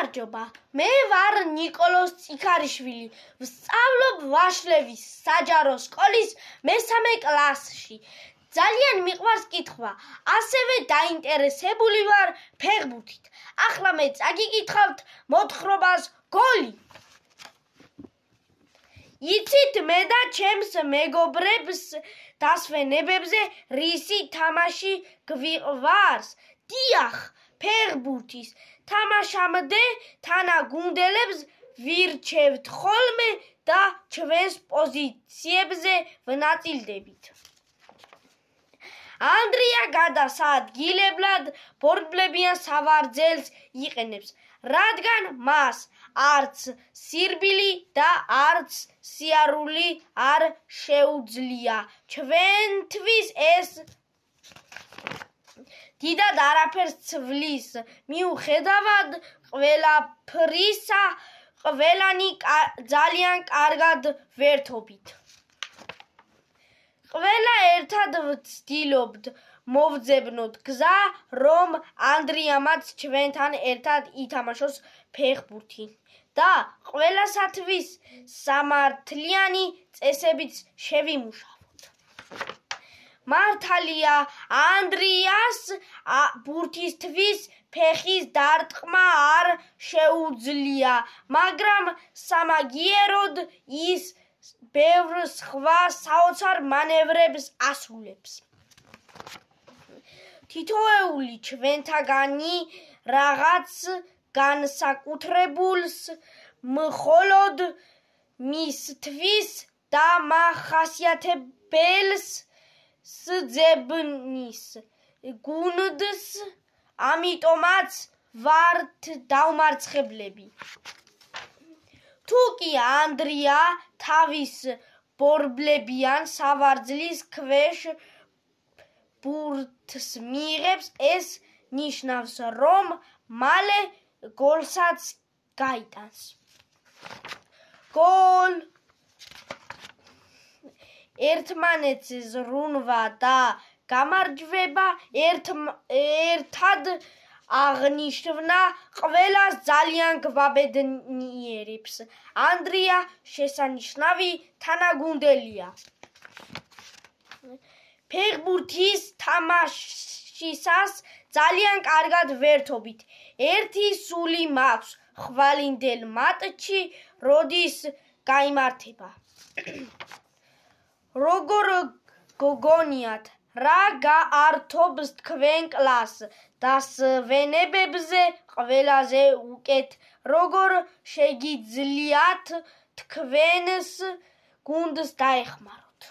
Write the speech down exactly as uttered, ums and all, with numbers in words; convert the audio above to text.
გამარჯობა, მე ვარ ნიკოლოზ წიქარიშვილი, ვსწავლობ ვაშლევის საჯარო სკოლის მესამე კლასში. ძალიან მიყვარს კითხვა, ასევე დაინტერესებული ვარ ფეხბურთით. ახლა მე წაგიკითხავთ მოთხრობას გოლი. იცით მე და ჩემს მეგობრებს დასვენებებზე რისი თამაში გვიყვარს? დიახ, ფეხბურთის თამაშამდე თანაგუნდელებს ვირჩევთ ხოლმე და ჩვენს პოზიციებზე ვნაწილდებით. ანდრია გადასადგილებლად ბორბლებიან სავარძელს იყენებს, რადგან მას არც სირბილი და არც სიარული არ შეუძლია. ჩვენთვის ეს დიდად არაფერს ცვლის, მიუხედავად ყველაფრისა, ყველანი ძალიან კარგად ვერთობით. ყველა ერთად ვცდილობთ მოვძებნოთ გზა, რომ ანდრიამაც ჩვენთან ერთად ითამაშოს ფეხბურთი და ყველასათვის სამართლიანი წესებიც შევიმუშავოთ. მართალია, ანდრიას ბურთისთვის ფეხის დარტყმა არ შეუძლია, მაგრამ სამაგიეროდ ის ბევრ სხვა საოცარ მანევრებს ასრულებს. თითოეული ჩვენთაგანი რაღაც განსაკუთრებულს მხოლოდ მისთვის დამახასიათებელს სძებნის გუნდს, ამიტომაც ვართ დაუმარცხებლები. თუ კი ანდრია თავის ბორბლებიან სავარძლის ქვეშ ბურთს მიიღებს, ეს ნიშნავს, რომ მალე გოლსაც გაიტანს. გოლ! ერთმანეთს ზრუნვა და გამარჯვება ერთად აღნიშვნა ყველას ძალიან გვაბედნიერებს. ანდრია შესანიშნავი თანაგუნდელია. ფეხბურთის თამაშისას ძალიან კარგად ვერთობით. ერთი სული მაქვს ხვალინდელ მატჩი, როდის გაიმართება. როგორ გოგონიათ, რა გაართობს თქვენ კლასს დასვენებებზე ყველაზე უკეთ, როგორ შეგიძლიათ თქვენს გუნდს დაეხმაროთ?